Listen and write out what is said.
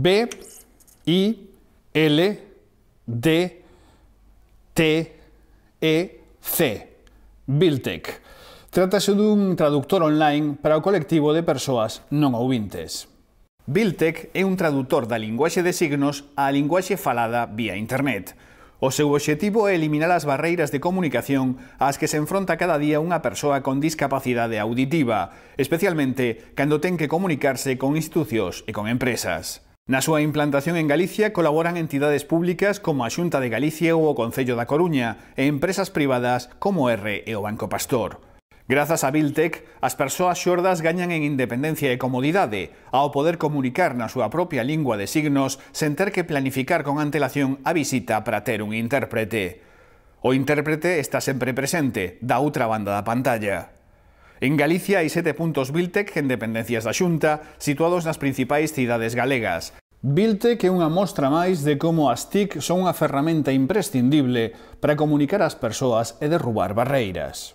B-I-L-D-T-E-C. Biltec. Trátase dun traductor online para o colectivo de persoas non ouvintes. Biltec é un tradutor da linguaxe de signos á linguaxe falada vía internet. O seu obxectivo é eliminar as barreiras de comunicación ás que se enfronta cada día unha persoa con discapacidade auditiva, especialmente cando ten que comunicarse con institucións e con empresas. Na súa implantación en Galicia colaboran entidades públicas como a Xunta de Galicia ou o Concello da Coruña e empresas privadas como R e o Banco Pastor. Grazas a Biltec, as persoas xordas gañan en independencia e comodidade ao poder comunicar na súa propia lingua de signos sen ter que planificar con antelación a visita para ter un intérprete. O intérprete está sempre presente, da outra banda da pantalla. En Galicia hai 7 puntos Biltec en dependencias da Xunta, situados nas principais cidades galegas. Biltec é unha mostra máis de como as TIC son unha ferramenta imprescindible para comunicar ás persoas e derrubar barreiras.